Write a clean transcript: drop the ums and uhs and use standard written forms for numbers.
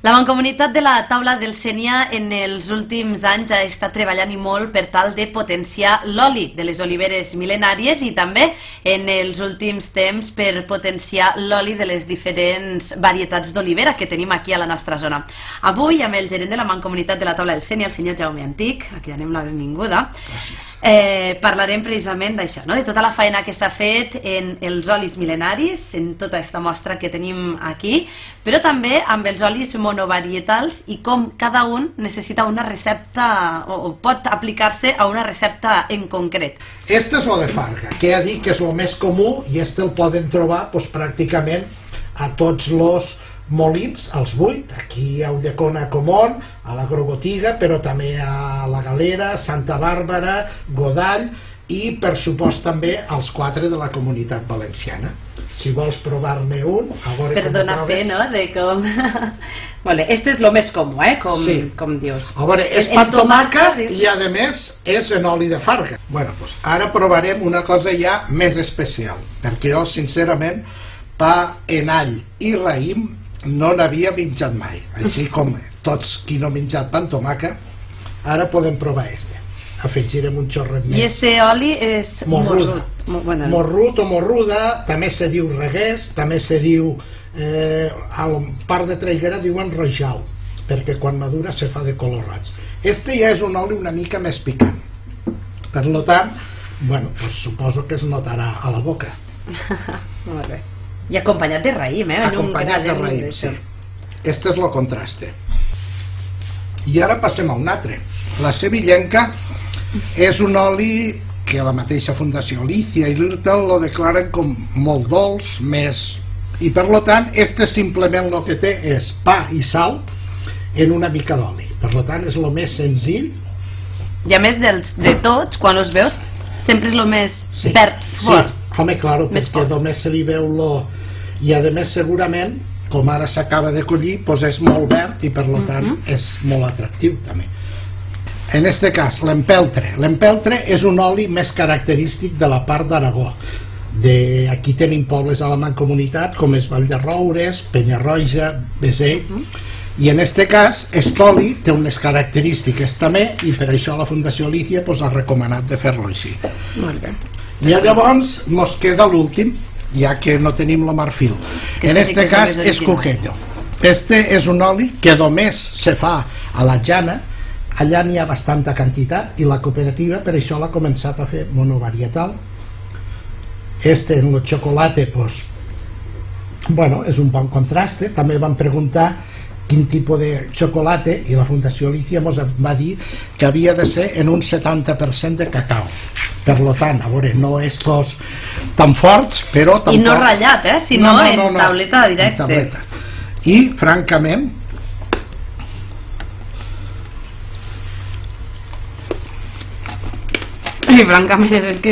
La Mancomunitat de la Taula del Sénia en els últims anys ha estat treballant i molt per tal de potenciar l'oli de les oliveres mil·lenàries i també en els últims temps per potenciar l'oli de les diferents varietats d'olivera que tenim aquí a la nostra zona. Avui, amb el gerent de la Mancomunitat de la Taula del Sénia, el senyor Jaume Antic, a qui donem la benvinguda, parlarem precisament d'això, no? De tota la feina que s'ha fet en els olis mil·lenaris, en tota aquesta mostra que tenim aquí, però també amb els olis monovarietals i com cada un necessita una recepta o pot aplicar-se a una recepta en concret. Este és lo de Farga, que ja dic que és el més comú i este el poden trobar pràcticament a tots els molins, als 8, aquí a Ulldecona Comón, a l'Agrobotiga, però també a la Galera, Santa Bàrbara, Godall i per supost també als 4 de la Comunitat Valenciana. Si vols provar-ne un, a veure per com donar fe, no?, de com... Vale, este és el més comú, com dius. A veure, és pa amb tomàquet i a més és en oli de farga. Bueno, doncs ara provarem una cosa ja més especial, perquè jo sincerament pa en all i raïm no n'havia menjat mai, així com tots qui no ha menjat pa amb tomàquet. Ara podem provar este. Afegirem un xorret més. I este oli és morrut. Morrut o morruda, també se diu regués, també se diu, a la part de traiguera diuen rojal, perquè quan madura se fa de color roig. Este ja és un oli una mica més picant. Per tant, bueno, pues suposo que es notarà a la boca. Molt bé. I acompanyat de raïm, Acompanyat de raïm, sí. Este és el contraste. I ara passem a un altre. La sevillenca és un oli que la mateixa Fundació Alicia i l'Irtel lo declaren com molt dolç, més... I per tant, este simplement el que té és pa i sal en una mica d'oli. Per tant, és el més senzill. I a més de tots, quan els veus, sempre és el més verd, fort. Sí, home, claro, perquè només se li veu lo... I a més, segurament, com ara s'acaba de collir, doncs és molt verd i per tant és molt atractiu també. En este cas, l'empeltre. L'empeltre és un oli més característic de la part d'Aragó. Aquí tenim pobles a la Mancomunitat com és Vall de Roures, Penyarroja, Beseit, i en este cas aquest oli té unes característiques també i per això la Fundació Alicia ha recomanat de fer-lo així. I llavors ens queda l'últim, ja que no tenim el marfil. En este cas és cuquello. Este és un oli que només se fa a la llana. Allà n'hi ha bastanta quantitat i la cooperativa per això l'ha començat a fer monovarietal. Este en el xocolate, doncs, bueno, és un bon contraste. També van preguntar quin tipus de xocolate i la Fundació Alicia ens va dir que havia de ser en un 70% de cacau. Per tant, a veure, no és tan forts, però tampoc... I no ratllat, sinó en tauleta directa. I, francament, és que...